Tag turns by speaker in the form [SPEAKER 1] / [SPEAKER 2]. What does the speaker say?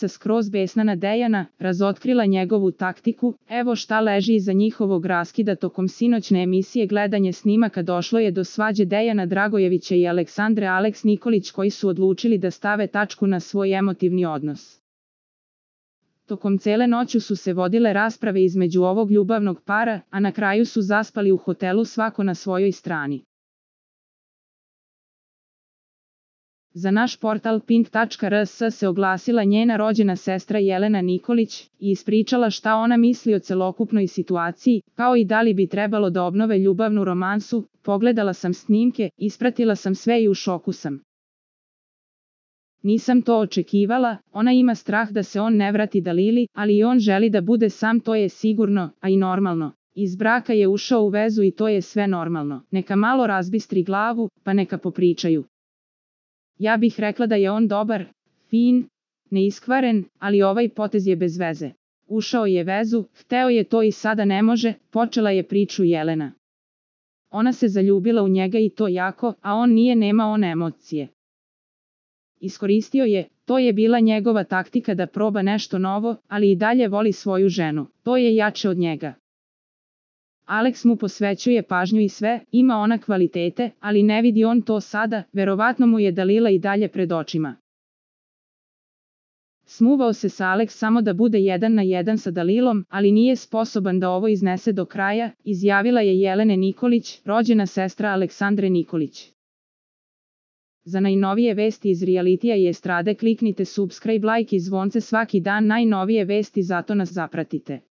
[SPEAKER 1] skroz besna na Dejana, razotkrila njegovu taktiku. Evo šta leži iza njihovog raskida. Tokom sinoćne emisije Gledanje snimaka došlo je do svađe Dejana Dragojevića i Aleksandre Aleks Nikolić, koji su odlučili da stave tačku na svoj emotivni odnos. Tokom cele noći su se vodile rasprave između ovog ljubavnog para, a na kraju su zaspali u hotelu svako na svojoj strani. Za naš portal pink.rs se oglasila njena rođena sestra Jelena Nikolić i ispričala šta ona misli o celokupnoj situaciji, kao i da li bi trebalo da obnove ljubavnu romansu. Pogledala sam snimke, ispratila sam sve i u šoku sam. Nisam to očekivala, ona ima strah da se on ne vrati Dalili, ali i on želi da bude sam, to je sigurno, a i normalno. Iz braka je ušao u vezu i to je sve normalno. Neka malo razbistri glavu, pa neka popričaju. Ja bih rekla da je on dobar, fin, neiskvaren, ali ovaj potez je bez veze. Ušao je vezu, hteo je to i sada ne može, počela je priču Jelena. Ona se zaljubila u njega i to jako, a on nije, nema on emocije. Iskoristio je, to je bila njegova taktika da proba nešto novo, ali i dalje voli svoju ženu, to je jače od njega. Aleks mu posvećuje pažnju i sve, ima ona kvalitete, ali ne vidi on to sada, verovatno mu je Dalila i dalje pred očima. Smuvao se sa Aleks samo da bude 1 na 1 sa Dalilom, ali nije sposoban da ovo iznese do kraja, izjavila je Jelena Nikolić, rođena sestra Aleksandre Nikolić. Za najnovije vesti iz realitija i estrade kliknite subscribe, like i zvonce svaki dan, najnovije vesti, zato nas zapratite.